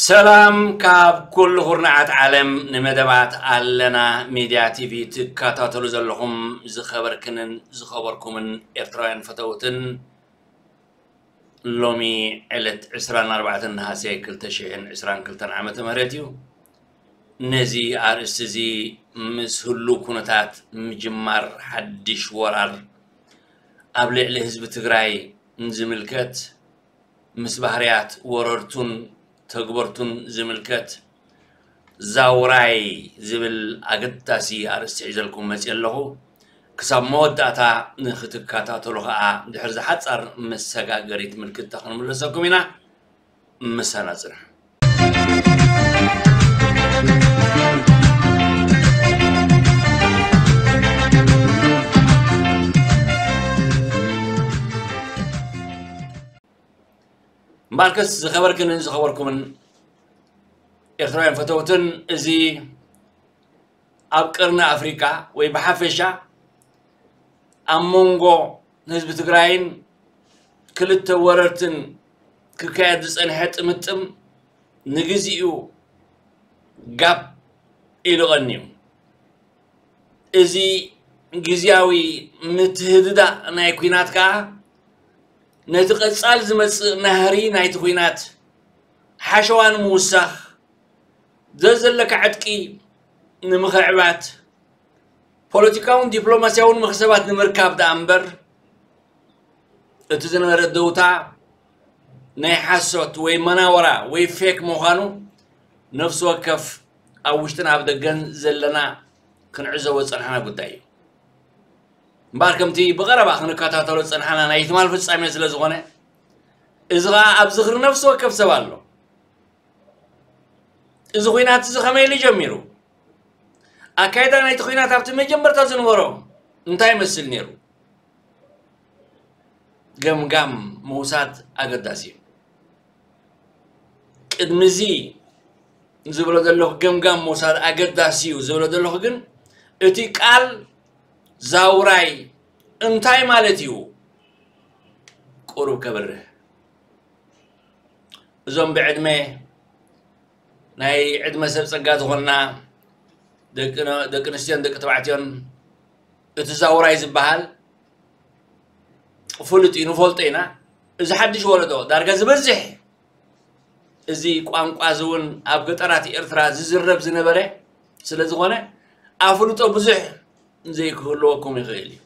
ሰላም ካብ ኩሉ ኩርናዓት ዓለም። ንመደባት ኣለና ሚድያ ቲቪ ትከታተሉ ዘለኹም ዝኸበርክንን ዝኸበርኩምን ኤርትራውያን ፈተውትን፣ ሎሚ ዕለት ዕስራን ኣርባዕተን ነሃሰ ክልተ ሽሕን ዕስራን ክልተን ዓመተ ምህረት እዩ። ነዚ ኣርእስቲ እዚ ምስ ህሉው ኩነታት ምጅማር ሓድሽ ወራር ኣብ ልዕሊ ህዝቢ ትግራይ ንዝምልከት፣ ምስ ባህርያት ወረርቱን ተግበርቱን ዝምልከት ዛውራይ ዝብል ኣገዳሲ ኣርእስቲ ሒዘልኩም መፅየ ኣለኹ። ክሳብ መወዳእታ ንክትከታተሉ ከዓ ድሕሪ ዝሓፃር መሰጋገሪት ምልክታ ክንምለሰኩም ኢና። ምሳና ፅንሑ። እምበኣርከስ ዝኸበርክንን ዝኸበርኩምን ኤርትራውያን ፈተውትን፣ እዚ ኣብ ቀርኒ ኣፍሪቃ ወይ ብሓፈሻ ኣብ መንጎ ህዝቢ ትግራይን ክልተ ወረርትን ክካየድ ዝጸንሐ ጥምጥም ንግዚኡ ጋብ ኢሉ ቀንዩ። እዚ ግዝያዊ ምትህድዳእ ናይ ኲናት ከኣ ነቲ ቀጻል ዝመጽእ ናህሪ ናይቲ ኲናት ሓሸዋ ንምውሳኽ፣ ዘዘለካ ዕጥቂ ንምኽዕባት፣ ፖለቲካውን ዲፕሎማስያውን መኽሰባት ንምርካብ ደኣ እምበር፣ እቲ ዝነበረ ደውታ ናይ ሓሶት ወይ መናወራ ወይ ፌክ ምዃኑ ነፍሲ ወከፍ ኣብ ውሽጥን ኣብ ደገን ዘለና ክንዕዘቦ ዝጸናሕና ጉዳይ እዩ። እምበኣር ከምቲ ብቐረባ ክንከታተሎ ዝጸናሕና ናይ ትማል ፍጻሜ ስለ ዝኾነ፣ እዚ ኸኣ ኣብ ዝኽሪ ነፍሲ ወከፍ ሰብ ኣሎ። እዚ ኲናት እዚ ከመይ ኢሉ ጀሚሩ? ኣካይዳ ናይቲ ኲናት ኣብቲ መጀመርታ ዝነበሮ እንታይ ይመስል ነይሩ? ገምጋም ምውሳድ ኣገዳሲ እዩ። ቅድሚ እዚ ዝብሎ ዘለኹ፣ ገምጋም ምውሳድ ኣገዳሲ እዩ ዝብሎ ዘለኹ ግን፣ እቲ ቃል ዛውራይ እንታይ ማለት እዩ? ቁሩብ ከብርህ። እዞም ብዕድመ፣ ናይ ዕድመ ሰብ ጸጋ ዝኾንና ደቂ ነ-፣ ደቂ ኣንስትዮን ደቂ ተባዕትዮን፣ እቲ ዛውራይ ዝበሃል ፍሉጥ እዩ፣ ንፈልጦ ኢና። እዚ ሓድሽ ወለዶ ዳርጋ ዝበዝሕ እዚ ቋንቋ እዚ እውን ኣብ ገጠራት ኤርትራ ዝዝረብ ዝነበረ ስለ ዝኾነ፣ ኣፍልጦ ብዙሕ ዘይክህልወኩም ይኽእል እዩ።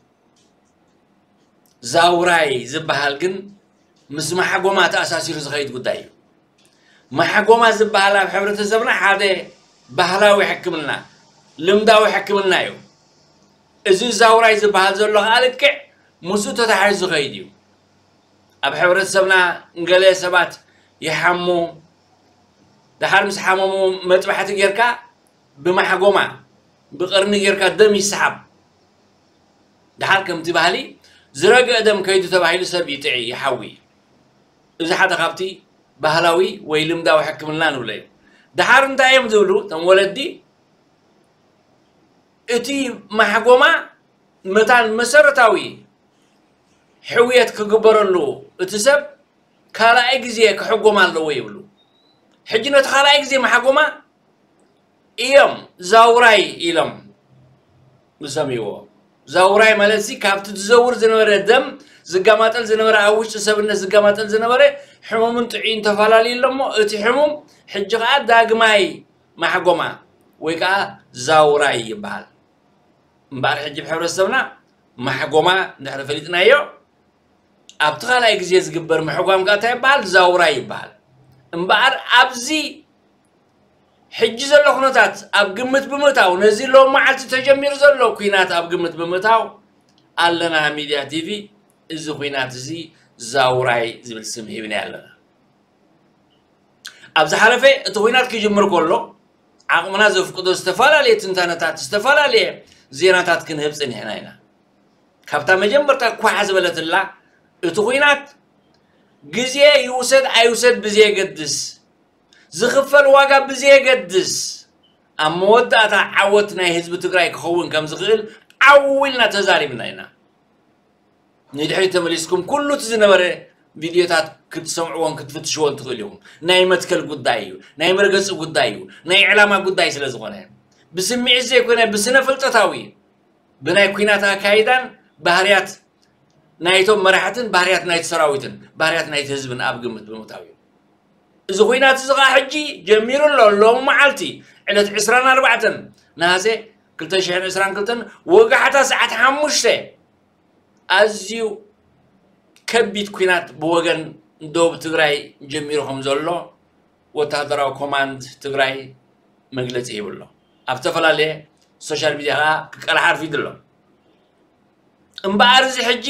ዛውራይ ዝበሃል ግን ምስ ማሕጎማ ተኣሳሲሩ ዝኸይድ ጉዳይ እዩ። ማሕጎማ ዝበሃል ኣብ ሕብረተሰብና ሓደ ባህላዊ ሕክምና፣ ልምዳዊ ሕክምና እዩ። እዚ ዛውራይ ዝበሃል ዘሎ ከዓ ልክዕ ምስኡ ተታሒዙ ዝኸይድ እዩ። ኣብ ሕብረተሰብና ገለ ሰባት ይሓሙ፣ ደሓር ምስ ሓመሙ መጥባሕቲ ጌርካ ብማሕጎማ ብቐርኒ ጌርካ ደም ይሰሓብ። ደሓር ከምቲ ባህሊ ዝረግአ ደም ከይዱ ተባሂሉ ሰብ ይጥዒ፣ ይሓዊ። እዚ ሓደ ካብቲ ባህላዊ ወይ ልምዳዊ ሕክምና ንብሎ እዩ። ደሓር እንታይ እዮም ዝብሉ እቶም ወለዲ? እቲ ማሕጎማ መታን መሰረታዊ ሕውየት ክግበረሉ እቲ ሰብ ካልኣይ ግዜ ክሕጎም ኣለዎ ይብሉ። ሕጂ ነቲ ካልኣይ ግዜ ማሕጎማ እዮም ዛውራይ ኢሎም ዝሰምይዎ። ዛውራይ ማለት ሲ ካብቲ ዝዘውር ዝነበረ ደም ዝጋማጠል ዝነበረ፣ ኣብ ውሽጢ ሰብነት ዝጋማጠል ዝነበረ ሕሙምን ጥዑይን ተፈላለዩ ኣሎ እሞ፣ እቲ ሕሙም ሕጂ ኸዓ ዳግማይ ማሕጎማ ወይ ከዓ ዛውራይ ይበሃል። እምበኣር ሕጂ ብሕብረተሰብና ማሕጎማ እንድሕሪ ፈሊጥናዮ፣ ኣብቲ ካልኣይ ግዜ ዝግበር ምሕጓም ከኣ እንታይ ይበሃል? ዛውራይ ይበሃል። እምበኣር ኣብዚ ሕጂ ዘሎ ኩነታት ኣብ ግምት ብምእታው፣ ነዚ ሎም መዓልቲ ተጀሚሩ ዘሎ ኲናት ኣብ ግምት ብምእታው፣ ኣለና ሚድያ ቲቪ እዚ ኲናት እዚ ዛውራይ ዝብል ስም ሂብና ኣለና። ኣብ ዝሓለፈ እቲ ኹናት ክጅምር ከሎ ዓቕምና ዘፍቅዶ ዝተፈላለየ ትንታነታት፣ ዝተፈላለየ ዜናታት ክንህብ ጸኒሕና ኢና። ካብታ መጀመርታ ኳሕ ዝበለትላ፣ እቲ ኹናት ግዜ ይውሰድ ኣይውሰድ ብዘየገድስ፣ ዝኽፈል ዋጋ ብዘየገድስ፣ ኣብ መወዳእታ ዓወት ናይ ህዝቢ ትግራይ ክኸውን ከም ዝኽእል ዓው ኢልና ተዛሪብና ኢና። ንድሕሪት ተመሊስኩም ኩሉ እቲ ዝነበረ ቪድዮታት ክትሰምዕዎን ክትፍትሽዎን ትኽእሉ ኢኹም። ናይ መትከል ጉዳይ እዩ፣ ናይ መርገፂ ጉዳይ እዩ፣ ናይ ዕላማ ጉዳይ ስለ ዝኾነ፣ ብስምዒት ዘይኮነ ብስነ ፍልጠታዊ፣ ብናይ ኲናት ኣካይዳን ባህርያት ናይቶም መራሕትን ባህርያት ናይቲ ሰራዊትን ባህርያት ናይቲ ህዝብን ኣብ ግምት ብምእታው እዩ። እዚ ኹናት እዚ ኸዓ ሕጂ ጀሚሩ ኣሎ። ሎም መዓልቲ ዕለት ዕስራን ኣርባዕተን ነሃሰ ክልተ ሽሕን ዕስራን ክልተን ወጋሕታ ሰዓት ሓሙሽተ ኣዝዩ ከቢድ ኲናት ብወገን ደቡብ ትግራይ ጀሚሩ ከም ዘሎ ወታደራዊ ኮማንድ ትግራይ መግለፂ ሂቡ ኣሎ። ኣብ ዝተፈላለየ ሶሻል ሚድያ ከዓ ክቀላሕ ኣርፊዱ ኣሎ። እምበኣር እዚ ሕጂ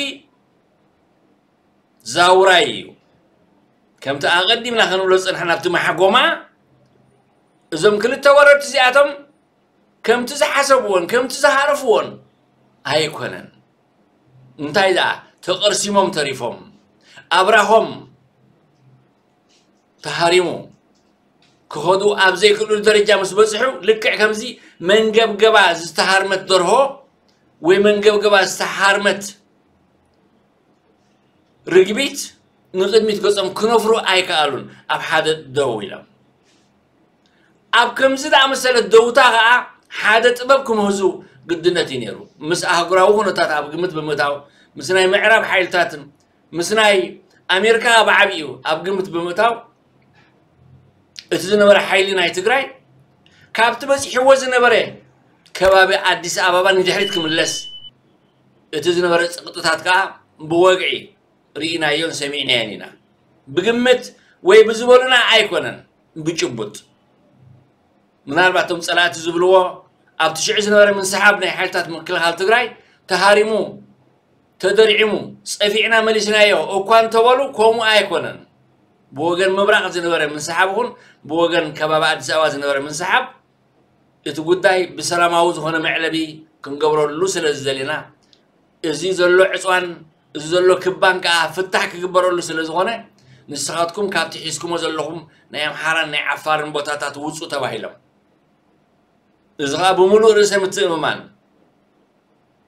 ዛውራይ እዩ። ከምቲ ኣቐዲምና ክንብሎ ዝጸናሕና ኣብቲ ማሕጎማ፣ እዞም ክልተ ወረርቲ እዚኣቶም ከምቲ ዝሓሰብዎን ከምቲ ዝሃረፍዎን ኣይኮነን። እንታይ ደኣ ተቐርሲሞም ተሪፎም፣ ኣብራኾም ተሃሪሙ ክኸዱ ኣብ ዘይክእሉ ደረጃ ምስ በጽሑ፣ ልክዕ ከምዚ መንገብገባ ዝተሃርመት ደርሆ ወይ መንገብገባ ዝተሃርመት ርግቢት ንቕድሚት ገጾም ክነፍሩ ኣይከኣሉን። ኣብ ሓደ ደው ኢሎም። ኣብ ከምዚ ዝኣመሰለ ደውታ ኸኣ ሓደ ጥበብ ክምህዙ ግድነት እዩ ነይሩ። ምስ ኣህጉራዊ ኩነታት ኣብ ግምት ብምእታው፣ ምስ ናይ ምዕራብ ሓይልታትን ምስ ናይ ኣሜሪካ ብዓቢኡ ኣብ ግምት ብምእታው፣ እቲ ዝነበረ ሓይሊ ናይ ትግራይ ካብቲ በፂሕዎ ዝነበረ ከባቢ ኣዲስ ኣበባ ንድሕሪት ክምለስ፣ እቲ ዝነበረ ፀቕጥታት ከዓ ብወግዒ ርኢናዮን ሰሚዕናዮን ኢና። ብግምት ወይ ብዝበሉና ኣይኮነን፣ ብጭቡጥ። ምናልባት እቶም ፀላእቲ ዝብልዎ ኣብቲ ሽዑ ዝነበረ ምንስሓብ ናይ ሓይልታት ምክልኻል ትግራይ ተሃሪሙ፣ ተደርዒሙ፣ ፀፊዕና መሊስናዮ እኳ እንተበሉ፣ ከምኡ ኣይኮነን። ብወገን ምብራቕ ዝነበረ ምንስሓብ ይኹን ብወገን ከባቢ ኣዲስ ኣበባ ዝነበረ ምንስሓብ፣ እቲ ጉዳይ ብሰላማዊ ዝኾነ መዕለቢ ክንገብረሉ ስለ ዝደለና፣ እዚ ዘሎ ዕፅዋን እዚ ዘሎ ክባን ከዓ ፍታሕ ክግበረሉ ስለ ዝኾነ፣ ንስኻትኩም ካብቲ ሒዝኩሞ ዘለኹም ናይ ኣምሓራን ናይ ዓፋርን ቦታታት ውፁ ተባሂሎም። እዚ ከዓ ብምሉእ ርእሰ ምትእምማን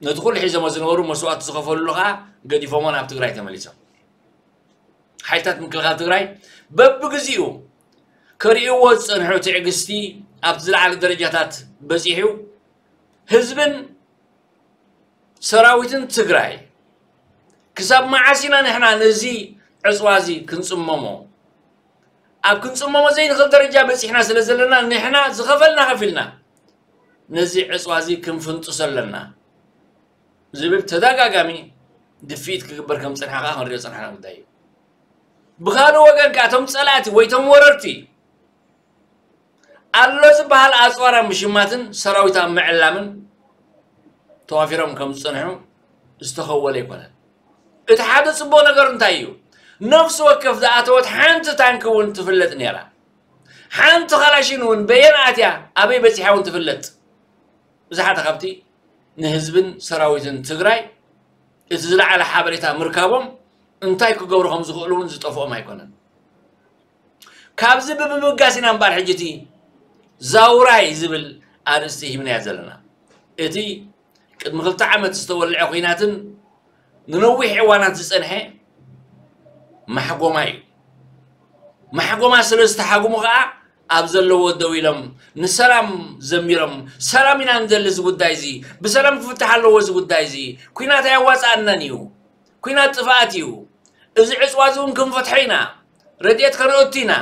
ነቲ ኩሉ ሒዞሞ ዝነበሩ መስዋእቲ ዝኸፈልሉ ከዓ ገዲፎሞ ናብ ትግራይ ተመሊሶም። ሓይልታት ምክልኻል ትግራይ በብግዚኡ ከርእይዎ ዝፀንሑ ትዕግስቲ ኣብቲ ዝለዓለ ደረጃታት በፂሑ፣ ህዝብን ሰራዊትን ትግራይ ክሳብ መዓስ ኢና ንሕና ነዚ ዕፅዋ እዚ ክንፅመሞ? ኣብ ክንፅመሞ ዘይንኽእል ደረጃ በፂሕና ስለ ዘለና ንሕና ዝኸፈልና ከፊልና ነዚ ዕፅዋ እዚ ክንፍንጥሶ ኣለና ዝብል ተደጋጋሚ ድፍኢት ክግበር ከም ዝፀንሐ ከዓ ክንሪኦ ዝፀናሕና ጉዳይ እዩ። ብኻልእ ወገን ከዓ እቶም ፀላእቲ ወይ እቶም ወረርቲ ኣሎ ዝበሃል ኣፅዋር ኣብ ምሽማትን ሰራዊት ኣብ ምዕላምን ተዋፊሮም ከም ዝፀንሑ ዝተኸወለ ኣይኮነን። እቲ ሓደ ፅቡቕ ነገር እንታይ እዩ? ነፍሲ ወከፍ ዝኣተወት ሓንቲ ታንኪ እውን ትፍለጥ ነይራ። ሓንቲ ካላሽን እውን በየን ኣትያ ኣበይ በፂሓ እውን ትፍለጥ። እዚ ሓደ ካብቲ ንህዝብን ሰራዊትን ትግራይ እቲ ዝለዓለ ሓበሬታ ምርካቦም እንታይ ክገብሩ ከም ዝኽእሉ እውን ዝጠፍኦም ኣይኮነን። ካብዚ ብምብጋስ ኢና እምበኣር ሕጂ እቲ ዛውራይ ዝብል ኣርእስቲ ሂብናዮ ዘለና። እቲ ቅድሚ ክልተ ዓመት ዝተወልዐ ኹናትን ንነዊሕ እዋናት ዝጸንሐ ማሕጎማ እዩ። ማሕጎማ ስለ ዝተሓጉሙ ኸኣ ኣብ ዘለዎ ደው ኢሎም ንሰላም ዘሚሮም፣ ሰላም ኢና ንደሊ፣ እዚ ጉዳይ እዚ ብሰላም ክፍታሕ ኣለዎ፣ እዚ ጉዳይ እዚ ኲናት ኣየዋጽኣናን እዩ፣ ኲናት ጥፍኣት እዩ፣ እዚ ዕጽዋ እዚ እውን ክንፈትሖ ኢና፣ ረድኤት ከነእቱ ኢና፣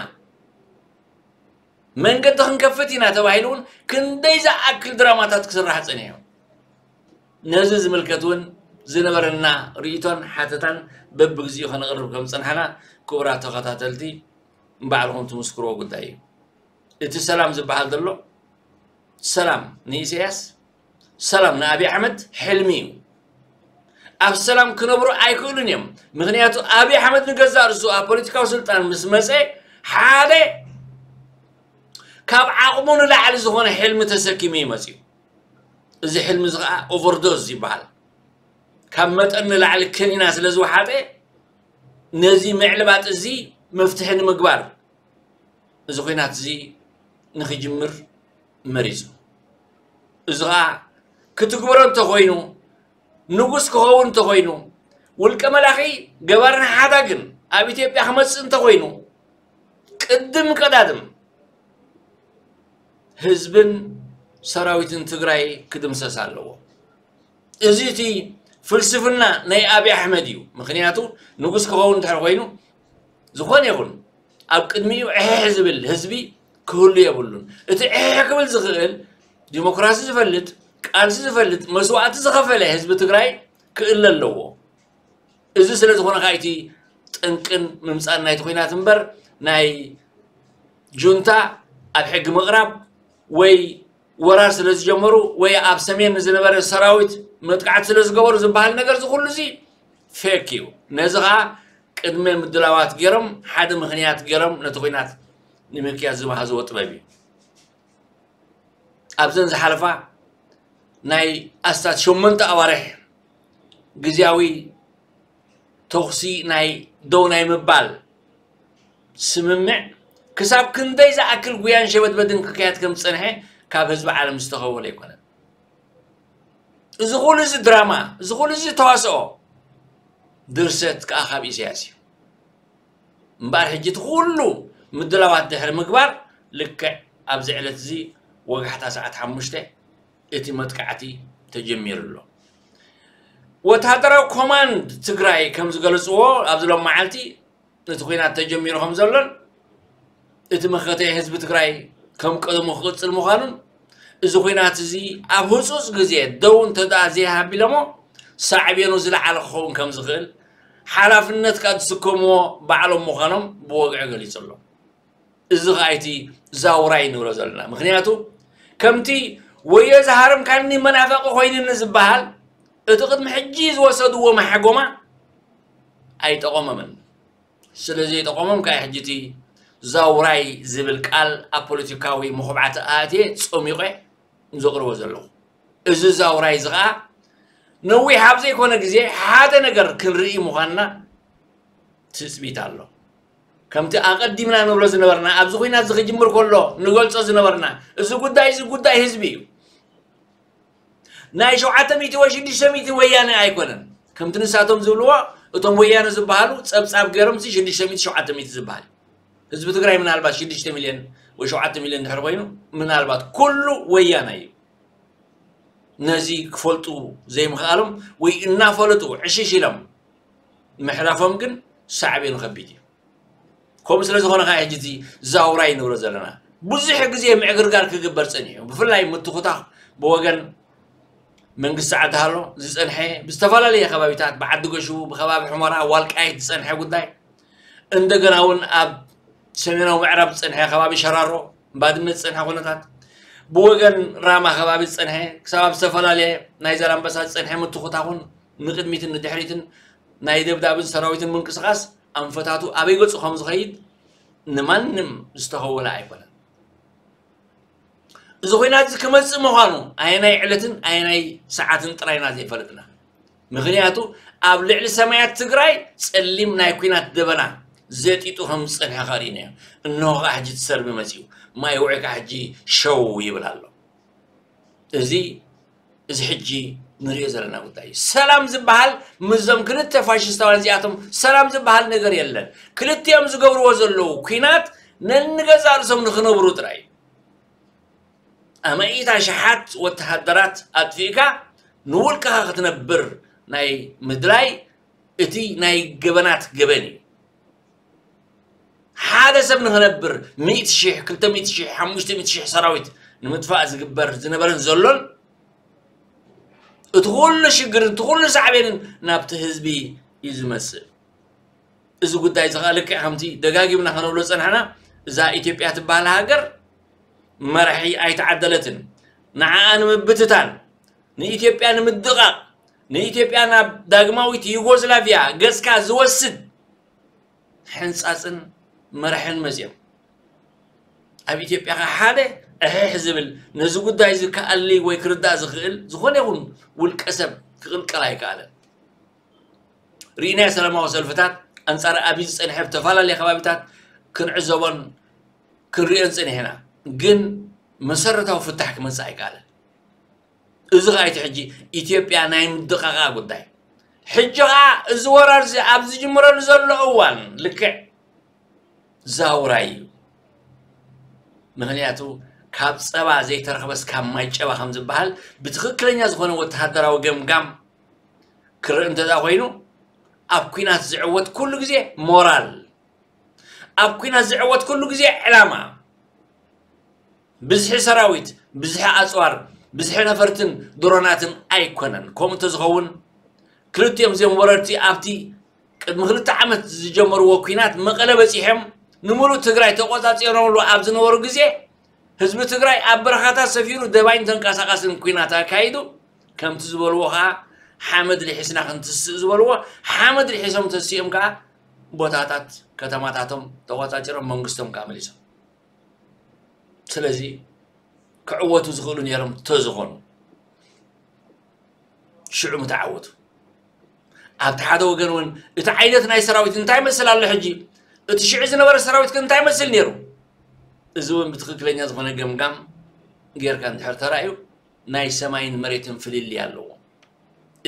መንገዲ ክንከፍት ኢና ተባሂሉ እውን ክንደይ ዝኣክል ድራማታት ክስራሕ ጸኒሑ። ነዚ ዝምልከት እውን ዝነበረና ርእይቶን ሓተታን በብግዚኡ ከነቕርብ ከም ዝጸናሕና ክቡራት ተኸታተልቲ ንባዕልኹም ትምስክርዎ ጉዳይ እዩ። እቲ ሰላም ዝበሃል ዘሎ ሰላም ንኢሳያስ፣ ሰላም ንኣብይ ኣሕመድ ሕልሚ እዩ። ኣብ ሰላም ክነብሩ ኣይክእሉን እዮም። ምኽንያቱ ኣብይ ኣሕመድ ንገዛእ ርእሱ ኣብ ፖለቲካዊ ስልጣን ምስ መጸ ሓደ ካብ ዓቕሙ ንላዕሊ ዝኾነ ሕልሚ ተሰኪሙ እዩ መፂኡ። እዚ ሕልሚ እዚ ከዓ ኦቨርዶዝ ይበሃል። ካብ መጠን ንላዕሊ ከኒና ስለ ዝወሓጠ ነዚ ምዕልባጥ እዚ መፍትሒ ንምግባር እዚ ኲናት እዚ ንኽጅምር መሪፁ። እዚ ከዓ ክትግበሮ እንተኾይኑ፣ ንጉስ ክኸውን እንተኾይኑ፣ ውልቀ መላኺ ገባርን ሓዳግን ኣብ ኢትዮጵያ ክመፅእ እንተኾይኑ፣ ቅድም ቀዳድም ህዝብን ሰራዊትን ትግራይ ክድምሰስ ኣለዎ። እዚ እቲ ፍልስፍና ናይ ኣብይ ኣሕመድ እዩ። ምክንያቱ ንጉስ ክኸውን እንድሕር ኮይኑ፣ ዝኾነ ይኹን ኣብ ቅድሚኡ ዕሕሕ ዝብል ህዝቢ ክህሉ የብሉን። እቲ ዕሕሕ ክብል ዝኽእል ዲሞክራሲ ዝፈልጥ፣ ቃልሲ ዝፈልጥ፣ መስዋእቲ ዝኸፈለ ህዝቢ ትግራይ ክእለ ኣለዎ። እዚ ስለ ዝኾነ ከዓ እቲ ጠንቅን ምምፃን ናይቲ ኲናት እምበር ናይ ጁንታ ኣብ ሕጊ ምቕራብ ወይ ወራር ስለ ዝጀመሩ ወይ ኣብ ሰሜን ንዝነበረ ሰራዊት መጥቃዕቲ ስለ ዝገበሩ ዝበሃል ነገር እዚ ኩሉ እዚ ፌክ እዩ። ነዚ ከዓ ቅድመ ምድላዋት ገይሮም ሓደ ምኽንያት ገይሮም ነቲ ኲናት ንምክያድ ዝመሃዝዎ ጥበብ እዩ። ኣብዘን ዝሓለፋ ናይ ኣስታት ሸሞንተ ኣዋርሕ ግዝያዊ ተኹሲ ናይ ደው ናይ ምባል ስምምዕ ክሳብ ክንደይ ዝኣክል ጉያን ሸበድበድን ክካየድ ከም ዝጸንሐ ካብ ህዝቢ ዓለም ዝተኸወለ ኣይኮነን። እዚ ኩሉ እዚ ድራማ፣ እዚ ኩሉ እዚ ተዋስኦ ድርሰት ከዓ ካብ ኢሳያስ እዩ። እምበኣር ሕጂ እቲ ኩሉ ምድላዋት ድሕሪ ምግባር ልክዕ ኣብዚ ዕለት እዚ ወጋሕታ ሰዓት ሓሙሽተ እቲ መጥቃዕቲ ተጀሚሩ ኣሎ። ወታደራዊ ኮማንድ ትግራይ ከም ዝገለፅዎ ኣብዚ ሎም መዓልቲ እቲ ኲናት ተጀሚሩ ከም ዘሎን እቲ መኸተ ህዝቢ ትግራይ ከም ቀደሙ ክቕፅል ምዃኑን እዚ ኲናት እዚ ኣብ ህፁፅ ግዜ ደው እንተ ደኣ ዘይሃቢሎሞ ሳዕቤኑ ዝለዓለ ክኸውን ከም ዝኽእል ሓላፍነት ካብ ዝስከምዎ ባዕሎም ምዃኖም ብወግዒ ገሊጹ ኣሎ። እዚ ኸኣ እቲ ዛውራይ ንብሎ ዘለና። ምኽንያቱ ከምቲ ወዮ ዝሃረምካኒ መናፈቂ ኮይንኒ ዝበሃል እቲ ቅድሚ ሕጂ ዝወሰድዎ ማሕጎማ ኣይጠቐሞምን። ስለ ዘይጠቐሞም ከኣ ሕጂ እቲ ዛውራይ ዝብል ቃል ኣብ ፖለቲካዊ መኹብዓቲ ኣእትየ ጸሚቐ ዘቕርቦ ዘለኹ። እዚ ዛውራይ እዚ ኸኣ ነዊሕ ኣብ ዘይኮነ ግዜ ሓደ ነገር ክንርኢ ምዃንና ትጽቢት ኣሎ። ከምቲ ኣቐዲምና ንብሎ ዝነበርና፣ ኣብዚ ኲናት እዚ ክጅምር ከሎ ንገልጾ ዝነበርና፣ እዚ ጉዳይ እዚ ጉዳይ ህዝቢ እዩ። ናይ ሸውዓተ ሚእቲ ወይ ሽዱሽተ ሚእቲ ወያነ ኣይኮነን። ከምቲ ንሳቶም ዝብልዎ፣ እቶም ወያነ ዝበሃሉ ጸብጻብ ገይሮም እዚ ሽዱሽተ ሚእቲ ሸውዓተ ሚእቲ ዝበሃል እዩ። ህዝቢ ትግራይ ምናልባት ሽዱሽተ ሚልዮን ወይ ሸውዓተ ሚልዮን ድሕሪ ኮይኑ፣ ምናልባት ኩሉ ወያነ እዩ። ነዚ ክፈልጡ ዘይምኽኣሎም ወይ እናፈለጡ ዕሽሽ ኢሎም ምሕላፎም ግን ሳዕቤኑ ከቢድ እዩ። ከምኡ ስለ ዝኾነ ከዓ ሕጂ እቲ ዛውራይ ንብሎ ዘለና ብዙሕ ግዜ ምዕግርጋር ክግበር ጸኒሑ፣ ብፍላይ ምትኹታኽ ብወገን መንግስቲ ዓዲ ሃሎ ዝጸንሐ፣ ብዝተፈላለየ ከባቢታት፣ ብዓዲ ገሹ፣ ብከባቢ ሑመራ፣ ዋልቃይት ዝጸንሐ ጉዳይ፣ እንደገና እውን ኣብ ሰሜናዊ ምዕራብ ዝጸንሐ ከባቢ ሸራሮ፣ ባድመ ዝጸንሐ ኩነታት፣ ብወገን ራማ ከባቢ ዝጸንሐ፣ ክሳብ ኣብ ዝተፈላለየ ናይ ዛላምበሳ ዝጸንሐ ምትኹታኹን ንቕድሚትን ንድሕሪትን ናይ ደብዳብን ሰራዊትን ምንቅስቓስ ኣንፈታቱ ኣበይ ገጹ ከም ዝኸይድ ንማንም ዝተኸወለ ኣይኮነን። እዚ ኹናት እዚ ክመጽእ ምዃኑ ኣየናይ ዕለትን ኣየናይ ሰዓትን ጥራይና ዘይፈለጥና። ምኽንያቱ ኣብ ልዕሊ ሰማያት ትግራይ ጸሊም ናይ ኲናት ደበና ዘጢጡ ከም ዝጸንሐ ከርእዩና እዮም። እንሆ ከኣ ሕጂ እቲ ሰርቢ መጺኡ። ማይ ውዒ ከኣ ሕጂ ሸው ይብል ኣሎ። እዚ፣ እዚ ሕጂ ንሪኦ ዘለና ጉዳይ እዩ። ሰላም ዝበሃል ምስዞም ክልተ ፋሽስታውያን እዚኣቶም ሰላም ዝበሃል ነገር የለን። ክልቲኦም ዝገብርዎ ዘለዉ ኲናት ነንገዛእ ርእሶም ንኽነብሩ ጥራይ እዩ። ኣማኢት ኣሽሓት ወተሃደራት ኣጥፊእካ ንውልቅኻ ክትነብር ናይ ምድላይ እቲ ናይ ገበናት ገበን እዩ። ሓደ ሰብ ንኽነብር ሚእቲ ሽሕ፣ ክልተ ሚእቲ ሽሕ፣ ሓሙሽተ ሚእቲ ሽሕ ሰራዊት ንምጥፋእ ዝግበር ዝነበረን ዘሎን እቲ ኩሉ ሽግርን እቲ ኩሉ ሳዕቤንን ናብቲ ህዝቢ እዩ ዝመጽእ። እዚ ጉዳይ እዚ ኸኣ ልክዕ ከምቲ ደጋጊምና ከነብሎ ዝጸናሕና እዛ ኢትዮጵያ ትበሃል ሃገር መራሒ ኣይተዓደለትን። ንዓኣ ንምብትታን፣ ንኢትዮጵያ ንምድቓቕ፣ ንኢትዮጵያ ናብ ዳግማዊት ዩጎዝላቪያ ገጽካ ዝወስድ ሕንጻጽን መራሕን መጺኦም። ኣብ ኢትዮጵያ ከ ሓደ እሕሕ ዝብል፣ ነዚ ጉዳይ እዚ ክኣሊ ወይ ክርዳእ ዝኽእል ዝኾነ ይኹን ውልቀ ሰብ ክቕልቀል ኣይከኣለን። ርኢናዮ፣ ሰላማዊ ሰልፍታት ኣንጻር ኣብይ ዝጸንሐ ኣብ ዝተፈላለየ ከባቢታት ክንዕዘቦን ክንሪኦን ጸኒሕና። ግን መሰረታዊ ፍታሕ ክመጽእ ኣይከኣለን። እዚ ኸኣ እቲ ሕጂ ኢትዮጵያ ናይ ምድቓቓ ጉዳይ። ሕጂ ኸኣ እዚ ወራር እዚ ኣብ ዝጅምረሉ ዘሎ እዋን ልክዕ ዛውራይ እዩ። ምኽንያቱ ካብ ጸባ ዘይተረኽበስ ካብ ማይ ጨባ ከም ዝበሃል ብትኽክለኛ ዝኾነ ወተሃደራዊ ገምጋም ክረእ እንተ ደኣ ኮይኑ፣ ኣብ ኲናት ዝዕወት ኩሉ ግዜ ሞራል፣ ኣብ ኲናት ዝዕወት ኩሉ ግዜ ዕላማ፣ ብዝሒ ሰራዊት፣ ብዝሒ ኣጽዋር፣ ብዝሒ ነፈርትን ድሮናትን ኣይኮነን። ከምኡ እንተዝኸውን ክልቲኦም እዚኦም ወረርቲ ኣብቲ ቅድሚ ክልተ ዓመት ዝጀመርዎ ኲናት መቐለ በጺሖም ንምሉእ ትግራይ ተቖጻጺሮምሉ ኣብ ዝነበሩ ግዜ ህዝቢ ትግራይ ኣብ በረኻታት ሰፊሩ ደባይን ተንቀሳቓስን ኲናት ኣካይዱ። ከምቲ ዝበልዎ ኸዓ ሓመድ ልሒስና ክንትስእ ዝበልዎ ሓመድ ልሒሶም ተሲኦም ከዓ ቦታታት ከተማታቶም ተቖጻጺሮም መንግስቶም ከዓ መሊሶም። ስለዚ ክዕወቱ ዝኽእሉ ነይሮም ተዝኾኑ ሽዑ ምተዓወቱ። ኣብቲ ሓደ ወገን እውን እቲ ዓይነት ናይ ሰራዊት እንታይ መስል ኣሎ ሕጂ፣ እቲ ሽዑ ዝነበረ ሰራዊት ከ እንታይ መስል ነይሩ? እዚ እውን ብትኽክለኛ ዝኾነ ገምጋም ጌርካ እንድሕር ተራእዩ ናይ ሰማይን መሬትን ፍልልይ ኣለዎ።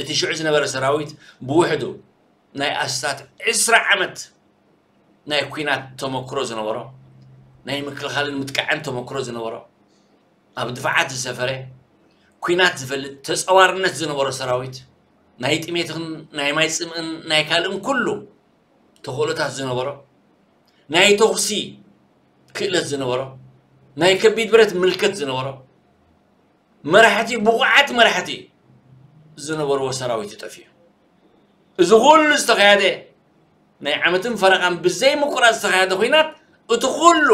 እቲ ሽዑ ዝነበረ ሰራዊት ብውሕዱ ናይ ኣስታት ዕስራ ዓመት ናይ ኲናት ተመክሮ ዝነበሮ፣ ናይ ምክልኻልን ምጥቃዕን ተመክሮ ዝነበሮ፣ ኣብ ድፋዓት ዝሰፈረ፣ ኲናት ዝፈልጥ፣ ተጸዋርነት ዝነበሮ ሰራዊት፣ ናይ ጥሜትን ናይ ማይ ጽምእን ናይ ካልእን ኩሉ ተኽእሎታት ዝነበሮ፣ ናይ ተኹሲ ክእለት ዝነበሮ፣ ናይ ከቢድ ብረት ምልከት ዝነበሮ፣ መራሕቲ፣ ብቑዓት መራሕቲ ዝነበርዎ ሰራዊት እዩ ጠፊኡ። እዚ ኩሉ ዝተኻየደ፣ ናይ ዓመትን ፈረቓን ብዘይ ምቁራጽ ዝተኻየደ ኲናት፣ እቲ ኩሉ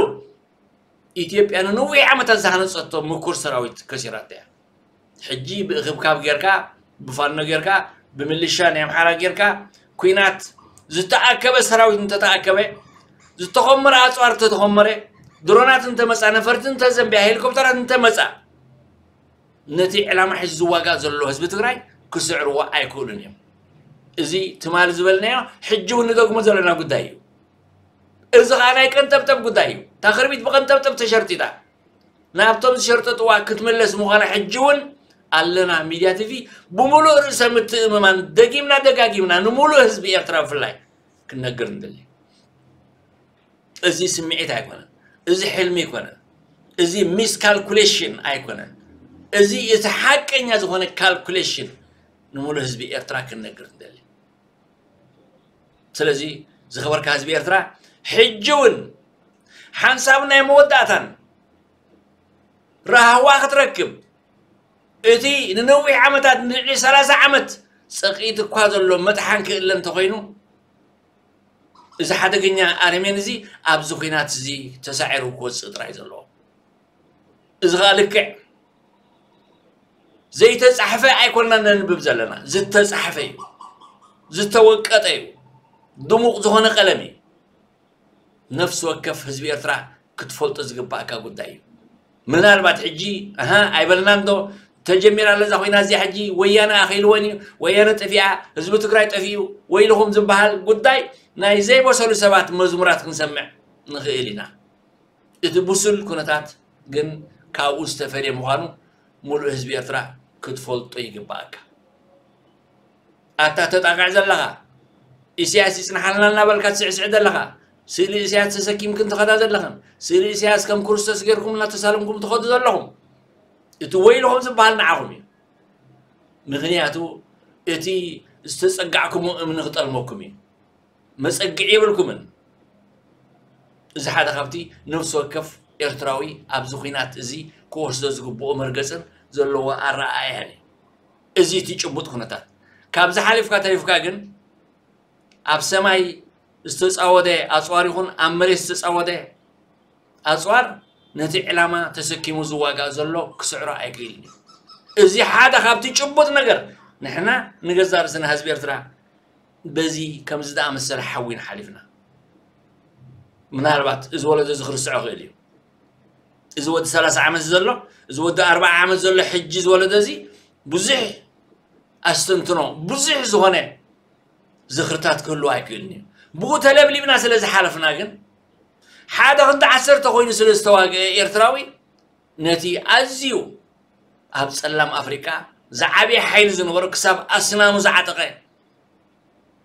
ኢትዮጵያ ንነዊሕ ዓመታት ዝሃነጸቶ ምኩር ሰራዊት ከሲራቶ እያ። ሕጂ ብእኽብካብ ጌርካ፣ ብፋኖ ጌርካ፣ ብምልሻ ናይ ኣምሓራ ጌርካ፣ ኲናት ዝተኣከበ ሰራዊት እንተተኣከበ፣ ዝተኾመረ ኣጽዋር እንተተኾመረ፣ ድሮናት እንተመጻ፣ ነፈርቲ እንተዘንብያ፣ ሄሊኮፕተራት እንተመጻ፣ ነቲ ዕላማ ሒዙ ዝዋጋእ ዘሎ ህዝቢ ትግራይ ክስዕርዎ ኣይክእሉን እዮም። እዚ ትማሊ ዝበልናዮ ሕጂ እውን ንደግሞ ዘለና ጉዳይ እዩ። እዚ ኸዓ ናይ ቀንጠብጠብ ጉዳይ እዩ። እታ ክርቢት ብቐንጠብጠብ ተሸርጢጣ ናብቶም ዝሸርጠጥዋ ክትምለስ ምዃና ሕጂ እውን ኣለና። ሚድያ ቲቪ ብምሉእ ርእሰ ምትእምማን ደጊምና ደጋጊምና ንምሉእ ህዝቢ ኤርትራ ብፍላይ ክንነግር ንደሊ። እዚ ስምዒት ኣይኮነን። እዚ ሕልሚ ኣይኮነን። እዚ ሚስ ካልኩሌሽን ኣይኮነን። እዚ እቲ ሓቀኛ ዝኾነ ካልኩሌሽን ንምሉእ ህዝቢ ኤርትራ ክንነግር ንደሊ። ስለዚ ዝኸበርካ ህዝቢ ኤርትራ፣ ሕጂ እውን ሓንሳብ ናይ መወዳእታን ራህዋ ክትረክብ፣ እቲ ንነዊሕ ዓመታት፣ ንልዕሊ ሰላሳ ዓመት ጸቒጡ እኳ ዘሎ መጥሓን ክእለ እንተኾይኑ፣ እዚ ሓደገኛ ኣረሜን እዚ ኣብዚ ኲናት እዚ ተሳዒሩ ክወጽእ ጥራይ ዘለዎ። እዚ ኸኣ ልክዕ ዘይተጻሕፈ ኣይኮንና ነንብብ ዘለና፣ ዝተጻሕፈ እዩ፣ ዝተወቀጠ እዩ፣ ድሙቕ ዝኾነ ቀለም እዩ። ነፍሲ ወከፍ ህዝቢ ኤርትራ ክትፈልጦ ዝግባእካ ጉዳይ እዩ። ምናልባት ሕጂ፣ ኣሃ፣ ኣይበልናን ዶ፣ ተጀሚራ ኣላ እዛ ኹናት እዚኣ፣ ሕጂ ወያነ ኣኺልወን እዩ፣ ወያነ ጠፊኣ፣ ህዝቢ ትግራይ ጠፊኡ፣ ወይልኹም ዝበሃል ጉዳይ ናይ ዘይበሰሉ ሰባት መዝሙራት ክንሰምዕ ንኽእል ኢና። እቲ ብሱል ኩነታት ግን ካብኡ ዝተፈልየ ምዃኑ ምሉእ ህዝቢ ኤርትራ ክትፈልጦ ይግባኣካ። ኣታ ተጣቕዕ ዘለኻ፣ ኢሳያስ ይጽንሓልና እናበልካ ትስዕስዕ ዘለኻ፣ ስእሊ ኢሳያስ ተሰኪምክን ትኸዳ ዘለኽን፣ ስእሊ ኢሳያስ ከም ክርስቶስ ጌርኩም እናተሳለምኩም ትኸዱ ዘለኹም፣ እቲ ወይልኹም ዝበሃል ንዓኹም እዩ። ምኽንያቱ እቲ ዝተጸጋዕኩሞ እምኒ ክጠልመኩም እዩ። መጸግዒ የብልኩምን። እዚ ሓደ ካብቲ ነፍሲ ወከፍ ኤርትራዊ ኣብዚ ኲናት እዚ ክወስዶ ዝግብኦ መርገጽን ዘለዎ ኣረኣእያን እዩ። እዚ እቲ ጭቡጥ ኩነታት። ካብዚ ሓሊፍካ ተሪፍካ ግን ኣብ ሰማይ ዝተጻወደ ኣጽዋር ይኹን ኣብ መሬት ዝተጻወደ ኣጽዋር ነቲ ዕላማ ተሰኪሙ ዝዋጋእ ዘሎ ክስዕሮ ኣይክእልን እዩ። እዚ ሓደ ካብቲ ጭቡጥ ነገር ንሕና ንገዛእ ርእስና ህዝቢ ኤርትራ በዚ ከምዚ ዝኣመሰለ ሓዊና ሓሊፍና። ምናልባት እዚ ወለዶ እዚ ክርስዖ ክእል እዩ። እዚ ወዲ ሰላሳ ዓመት ዘሎ፣ እዚ ወዲ ኣርብዓ ዓመት ዘሎ ሕጂ ዝወለደ እዚ ብዙሕ ኣስተንትኖ፣ ብዙሕ ዝኾነ ዝኽርታት ክህልዎ ኣይክእልን እዩ። ብኡ ተለብሊብና ስለ ዝሓለፍና ግን ሓደ ክንዲ ዓሰርተ ኮይኑ ስለ ዝተዋግአ ኤርትራዊ ነቲ ኣዝዩ ኣብ ጸላም ኣፍሪቃ ዝዓበየ ሓይሊ ዝነበሮ ክሳብ ኣስናኑ ዝዓጠቐ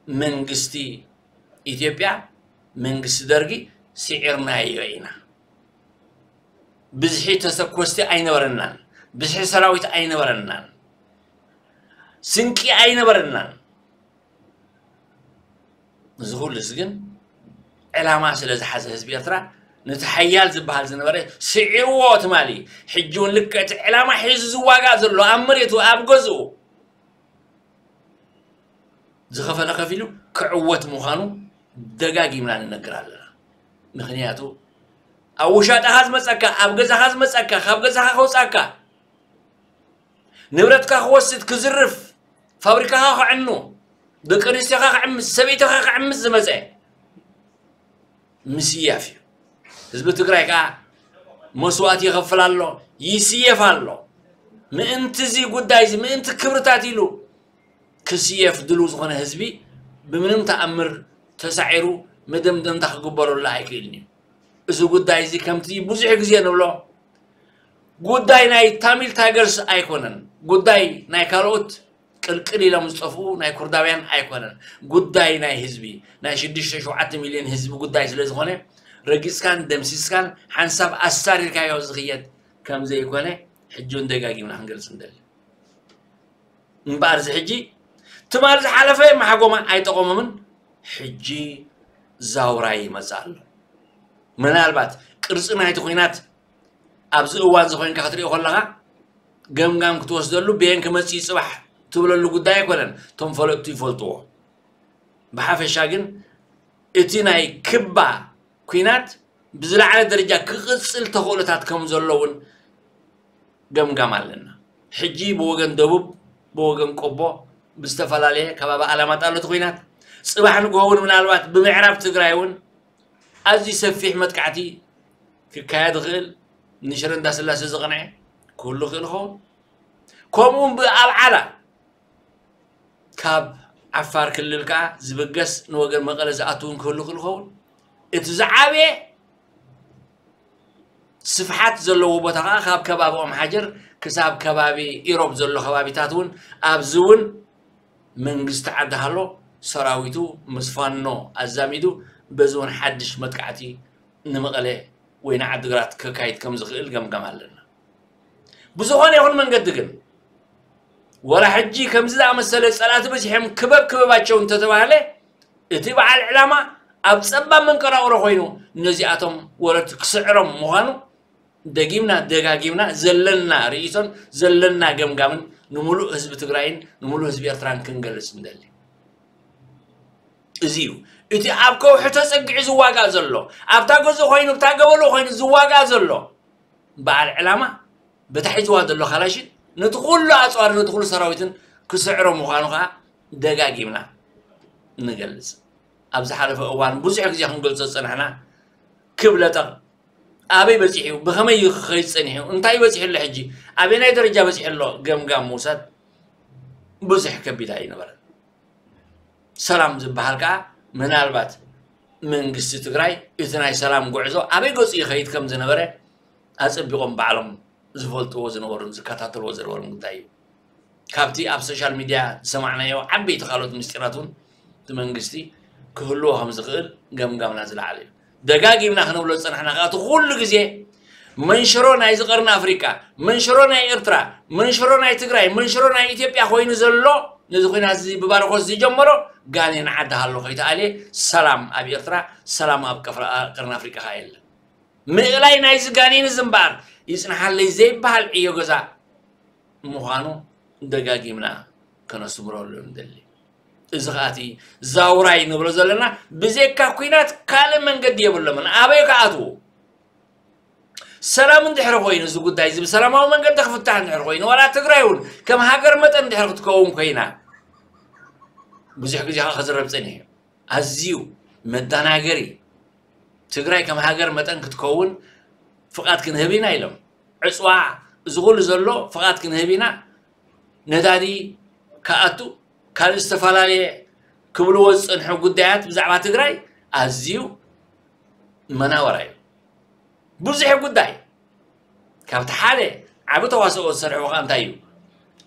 መንግስቲ ኢትዮጵያ መንግስቲ ደርጊ ስዒርናዮ ኢና። ብዝሒ ተተኮስቲ ኣይነበረናን፣ ብዝሒ ሰራዊት ኣይነበረናን፣ ስንቂ ኣይነበረናን። እዚ ኩሉስ ግን ዕላማ ስለ ዝሓዘ ህዝቢ ኤርትራ ነቲ ሓያል ዝበሃል ዝነበረ ስዒርዎ ትማሊ ሕጂ እውን ልክዕ እቲ ዕላማ ሒዙ ዝዋጋእ ዘሎ ኣብ መሬቱ ኣብ ገዝኡ ዝኸፈለ ከፊሉ ክዕወት ምዃኑ ደጋጊምና ንነግር ኣለና። ምኽንያቱ ኣብ ውሻጠኻ ዝመፀካ፣ ኣብ ገዛኻ ዝመፀካ፣ ካብ ገዛኻ ከውፃካ፣ ንብረትካ ክወስድ፣ ክዝርፍ፣ ፋብሪካኻ ክዕኑ፣ ደቂ ኣንስትዮኻ ክዕምስ፣ ሰበይትኻ ክዕምስ ዝመፀ ምስያፍ እዩ። ህዝቢ ትግራይ ከዓ መስዋእቲ ይኸፍል ኣሎ፣ ይስየፍ ኣሎ። ምእንቲ እዚ ጉዳይ እዚ፣ ምእንቲ ክብርታት ኢሉ ክስየፍ ድልው ዝኾነ ህዝቢ ብምንም ተኣምር ተሳዒሩ መደምደምታ ክግበረሉ ኣይክእልን እዩ። እዚ ጉዳይ እዚ ከምቲ ብዙሕ ግዜ ንብሎ ጉዳይ ናይ ታሚል ታይገርስ ኣይኮነን። ጉዳይ ናይ ካልኦት ቅልቅል ኢሎም ዝጠፍኡ ናይ ኩርዳውያን ኣይኮነን። ጉዳይ ናይ ህዝቢ፣ ናይ ሽዱሽተ ሸውዓተ ሚልዮን ህዝቢ ጉዳይ ስለ ዝኾነ ረጊጽካን ደምሲስካን ሓንሳብ ኣሳሪርካዮ ዝኽየድ ከም ዘይኮነ ሕጂ እውን ደጋጊምና ክንገልጽ ንደሊ። እምበኣር እዚ ሕጂ ትማል ዝሓለፈ ማሕጎማ ኣይጠቐሞምን። ሕጂ ዛውራይ ይመጽእ ኣሎ። ምናልባት ቅርጺ ናይቲ ኲናት ኣብዚ እዋን እዚ ኮይንካ ክትሪኦ ከለኻ ገምጋም ክትወስደሉ ብየን ክመጽእ እዩ ጽባሕ ትብለሉ ጉዳይ ኣይኮነን። እቶም ፈለጥቱ ይፈልጥዎ። ብሓፈሻ ግን እቲ ናይ ክባ ኲናት ብዝለዓለ ደረጃ ክቕጽል ተኽእሎታት ከም ዘሎ እውን ገምጋም ኣለና። ሕጂ ብወገን ደቡብ፣ ብወገን ቆቦ፣ ብዝተፈላለየ ከባቢ ኣላማጣ ኣሎ እቲ ኲናት። ጽባሕ ንግሆ እውን ምናልባት ብምዕራብ ትግራይ እውን ኣዝዩ ሰፊሕ መጥቃዕቲ ክካየድ ይኽእል። ንሽረ እንዳስላሴ ዝቐንዐ ክህሉ ይኽእል ይኸውን። ከምኡ እውን ብኣብ ዓላ ካብ ዓፋር ክልል ከኣ ዝብገስ ንወገን መቐለ ዝኣቱ እውን ክህሉ ይኽእል ይኸውን። እቲ ዝዓበየ ስፍሓት ዘለዎ ቦታ ከኣ ካብ ከባቢ ኦም ሓጀር ክሳብ ከባቢ ኢሮብ ዘሎ ከባቢታት እውን ኣብዚ እውን መንግስቲ ዓዲ ሃሎ ሰራዊቱ ምስ ፋኖ ኣዛሚዱ በዚ እውን ሓድሽ መጥቃዕቲ ንመቐለ ወይ ንዓዲግራት ከካይድ ከም ዝኽእል ገምጋም ኣለና። ብዝኾነ ይኹን መንገዲ ግን ወላ ሕጂ ከምዚ ዝኣመሰለ ጸላእቲ በዚሖም ክበብ ክበባቸው እንተተባህለ እቲ በዓል ዕላማ ኣብ ጸባብ መንቀራቕሮ ኮይኑ ነዚኣቶም ወረርቲ ክስዕሮም ምዃኑ ደጊምና ደጋጊምና ዘለና ርእይቶን ዘለና ገምጋምን ንምሉእ ህዝቢ ትግራይን ንምሉእ ህዝቢ ኤርትራን ክንገልጽ ንደሊ። እዚ እዩ እቲ ኣብ ከውሒ ተጸጊዑ ዝዋጋእ ዘሎ፣ ኣብታ ገዝኡ ኮይኑ፣ ኣብታ ገበሎ ኮይኑ ዝዋጋእ ዘሎ በዓል ዕላማ፣ በታ ሒዝዋ ዘሎ ካላሽን ነቲ ኩሉ ኣጽዋር ነቲ ኩሉ ሰራዊትን ክስዕሮ ምዃኑ ከዓ ደጋጊምና ንገልጽ። ኣብ ዝሓለፈ እዋን ብዙሕ ግዜ ክንገልጾ ዝጸናሕና ክብለጠቕ ኣበይ በጺሑ፣ ብኸመይ እዩ ክኸይድ ጸኒሑ፣ እንታይ በጺሑ ኣሎ፣ ሕጂ ኣበናይ ደረጃ በጺሑ ኣሎ ገምጋም ምውሳድ ብዙሕ ከቢድ ኣይነበረን። ሰላም ዝበሃል ከዓ ምናልባት መንግስቲ ትግራይ እቲ ናይ ሰላም ጉዕዞ ኣበይ ገጹ ይኸይድ ከም ዝነበረ ኣጸቢቖም ባዕሎም ዝፈልጥዎ ዝነበሩን ዝከታተልዎ ዝነበሩን ጉዳይ እዩ። ካብቲ ኣብ ሶሻል ሚድያ ዝሰማዕናዮ ዓበይቲ ካልኦት ምስጢራት እውን እቲ መንግስቲ ክህልዎ ከም ዝኽእል ገምጋምና ዝለዓለ እዩ። ደጋጊምና ክንብሎ ዝጸናሕና ከዓ እቲ ኩሉ ግዜ መንሽሮ ናይዚ ቀርኒ ኣፍሪቃ፣ መንሽሮ ናይ ኤርትራ፣ መንሽሮ ናይ ትግራይ፣ መንሽሮ ናይ ኢትዮጵያ ኮይኑ ዘሎ ነዚ ኲናት እዚ ብባርኾት ዝጀመሮ ጋኔን ዓዲ ሃሎ ከይተኣልየ ሰላም ኣብ ኤርትራ፣ ሰላም ኣብ ቀፍራ-፣ ቀርኒ ኣፍሪቃ ከዓ የለን። ምእላይ ናይዚ ጋኔን እዚ እምበኣር ይጽንሓለይ ዘይበሃል ዕዮ ገዛ ምዃኑ ደጋጊምና ከነስምረሉ ንደሊ። እዚ ኸኣ እቲ ዛውራይ ንብሎ ዘለና ብዘይካ ኲናት ካልእ መንገዲ የብሎምን። ኣበይ ክኣትዉ? ሰላም እንድሕሪ ኮይኑ፣ እዚ ጉዳይ እዚ ብሰላማዊ መንገዲ ክፍታሕ እንድሕሪ ኮይኑ፣ ዋላ ትግራይ እውን ከም ሃገር መጠን እንድሕሪ ክትከውን ኮይና፣ ብዙሕ ግዜ ከዓ ክዝረብ ጸኒሑ እዩ። ኣዝዩ መደናገሪ። ትግራይ ከም ሃገር መጠን ክትከውን ፍቓድ ክንህብ ኢና ኢሎም። ዕፅዋ፣ እዚ ኩሉ ዘሎ ፍቓድ ክንህብ ኢና፣ ነዳዲ ክኣቱ፣ ካልእ ዝተፈላለየ ክብልዎ ዝፀንሑ ጉዳያት ብዛዕባ ትግራይ ኣዝዩ መናወራ እዩ። ብዙሕ ጉዳይ። ካብቲ ሓደ ዓቢ ተዋስኦ ዝሰርሕዎ ከዓ እንታይ እዩ?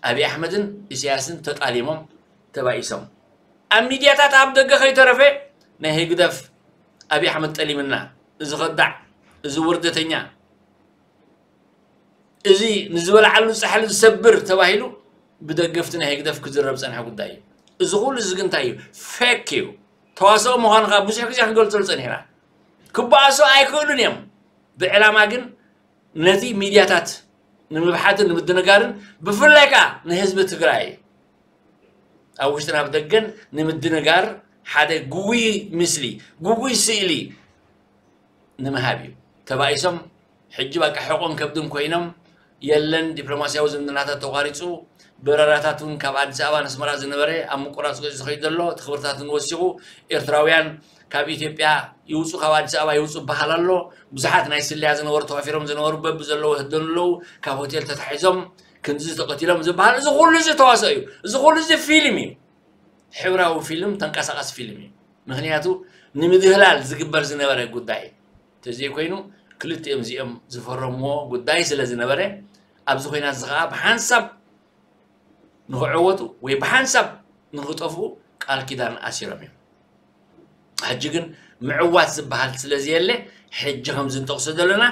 ኣብይ ኣሕመድን ኢሳያስን ተጣሊሞም ተባኢሶም። ኣብ ሚድያታት ኣብ ደገ ከይተረፈ ናይ ህግደፍ ኣብይ ኣሕመድ ጠሊምና፣ እዚ ከዳዕ፣ እዚ ውርደተኛ፣ እዚ ንዝበልዓሉ ፃሕሊ ዝሰብር ተባሂሉ ብደገፍቲ ናይ ህግደፍ ክዝረብ ዝፀንሐ ጉዳይ እዩ። እዚ ኩሉ እዚ ግን እንታይ እዩ? ፌክ እዩ። ተዋስኦ ምዃኑ ከዓ ብዙሕ ግዜ ክንገልፀሉ ፀኒሕና። ክበኣሱ ኣይክእሉን እዮም። ብዕላማ ግን ነቲ ሚድያታት ንምብሓትን ንምድንጋርን ብፍላይ ከዓ ንህዝቢ ትግራይ ኣብ ውሽጥን ኣብ ደገን ንምድንጋር ሓደ ግጉይ ምስሊ፣ ግጉይ ስእሊ ንምሃብ እዩ። ተባኢሶም ሕጂ በቃ ሕቆን ከብድን ኮይኖም፣ የለን፣ ዲፕሎማስያዊ ዝምድናታት ተቋሪፁ፣ በረራታት እውን ካብ ኣዲስ ኣበባ ንስመራ ዝነበረ ኣብ ምቁራፅ ገፂ ዝኸይድ ዘሎ፣ እቲ ክብርታት እውን ወሲኹ፣ ኤርትራውያን ካብ ኢትዮጵያ ይውፁ፣ ካብ ኣዲስ ኣበባ ይውፁ ይበሃል ኣሎ። ብዙሓት ናይ ስለያ ዝነበሩ ተዋፊሮም ዝነበሩ በብዘለዎ ይህደኑ ኣለዉ። ካብ ሆቴል ተታሒዞም ክንዚ ተቐቲሎም ዝበሃል፣ እዚ ኩሉ እዚ ተዋስኦ እዩ። እዚ ኩሉ እዚ ፊልም እዩ። ሕብራዊ ፊልም፣ ተንቀሳቐሲ ፊልም እዩ። ምኽንያቱ ንምድህላል ዝግበር ዝነበረ ጉዳይ ተዘይኮይኑ፣ ክልቲኦም እዚኦም ዝፈረምዎ ጉዳይ ስለ ዝነበረ፣ ኣብዚ ኮይናት እዚ ኸዓ ብሓንሳብ ንኽዕወቱ ወይ ብሓንሳብ ንኽጠፍኡ ቃል ኪዳን ኣሲሮም እዮም። ሕጂ ግን ምዕዋት ዝበሃል ስለ ዘየለ፣ ሕጂ ከም ዝንጠቕሶ ዘለና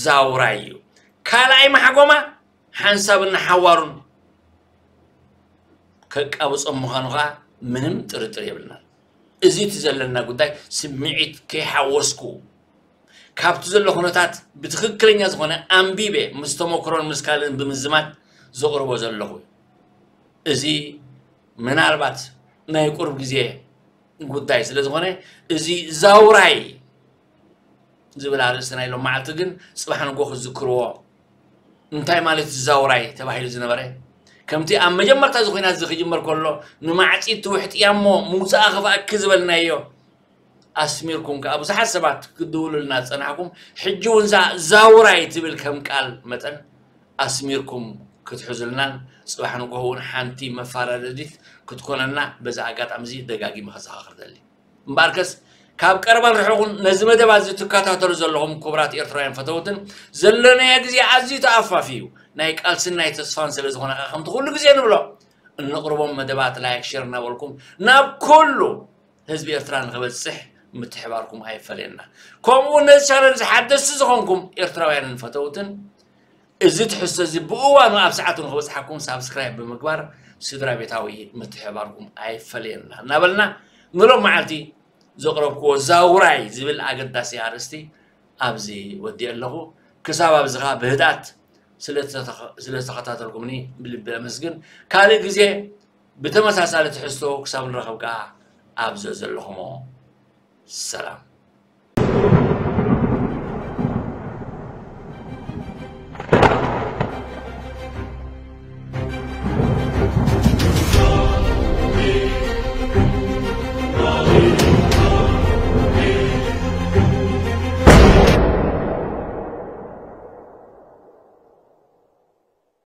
ዛውራይ እዩ። ካልኣይ ማሕጎማ ሓንሳብን ንሓዋሩን ከቃብጾም ምዃኑ ኸዓ ምንም ጥርጥር የብልናን። እዚ እቲ ዘለና ጉዳይ ስምዒት ከይሓወስኩ፣ ካብቲ ዘሎ ኩነታት ብትኽክለኛ ዝኾነ ኣንቢበ ምስ ተመክሮን ምስ ካልእን ብምዝማድ ዘቕርቦ ዘለኹ እዩ። እዚ ምናልባት ናይ ቁሩብ ግዜ ጉዳይ ስለ ዝኾነ፣ እዚ ዛውራይ ዝብል ኣርእስቲ ናይ ሎም መዓልቲ ግን ጽባሕ ንጎ ክዝክርዎ። እንታይ ማለት እዩ ዛውራይ ተባሂሉ ዝነበረ? ከምቲ ኣብ መጀመርታ እዚ ኲናት እዚ ክጅመር ከሎ ንማዕጺድ ትውሕጥያ እሞ ምውጻኣ ክፍኣኪ ዝበልናዮ ኣስሚርኩም ከኣ ብዙሓት ሰባት ክትድውሉልና ዝጸናሕኩም፣ ሕጂ እውን እዛ ዛውራይ ትብል ከም ቃል መጠን ኣስሚርኩም ክትሕዙልናን ጽባሕ ንጎ እውን ሓንቲ መፋራረዲት ክትኮነና በዚ ኣጋጣሚ እዚ ደጋጊመ ከዘኻኽር ደሊ። እምበኣርከስ ካብ ቀረባን ርሑቕን ነዚ መደብ ኣዚ ትከታተሉ ዘለኹም ክቡራት ኤርትራውያን ፈተውትን፣ ዘለናዮ ግዜ ኣዝዩ ተኣፋፊ እዩ። ናይ ቃልስን ናይ ተስፋን ስለ ዝኾነ ከኣ ከምቲ ኩሉ ግዜ ንብሎ፣ እነቕርቦም መደባት ላይክ፣ ሼር እናበልኩም ናብ ኩሉ ህዝቢ ኤርትራ ንኽበጽሕ ምትሕባርኩም ኣይፈለየና። ከምኡ እውን ነዚ ቻነል እዚ ሓደስቲ ዝኾንኩም ኤርትራውያንን ፈተውትን፣ እዚ ትሕዝቶ እዚ ብእዋኑ ኣብ ሰዓቱ ንኽበጽሓኩም ሳብስክራይብ ብምግባር ስድራ ቤታዊ ምትሕባርኩም ኣይፈለየና እናበልና፣ ንሎም መዓልቲ ዘቕረብክዎ ዛውራይ ዝብል ኣገዳሲ ኣርእስቲ ኣብዚ ወዲኤ ኣለኹ። ክሳብ ኣብዚ ኸኣ ብህድኣት ስለ ዝተኸ-፣ ስለ ዝተኸታተልኩምኒ ብልቢ ኣመስግን። ካልእ ግዜ ብተመሳሳሊ ትሕዝቶ ክሳብ ንረኸብ ከኣ ኣብ ዘዘለኹሞ ሰላም።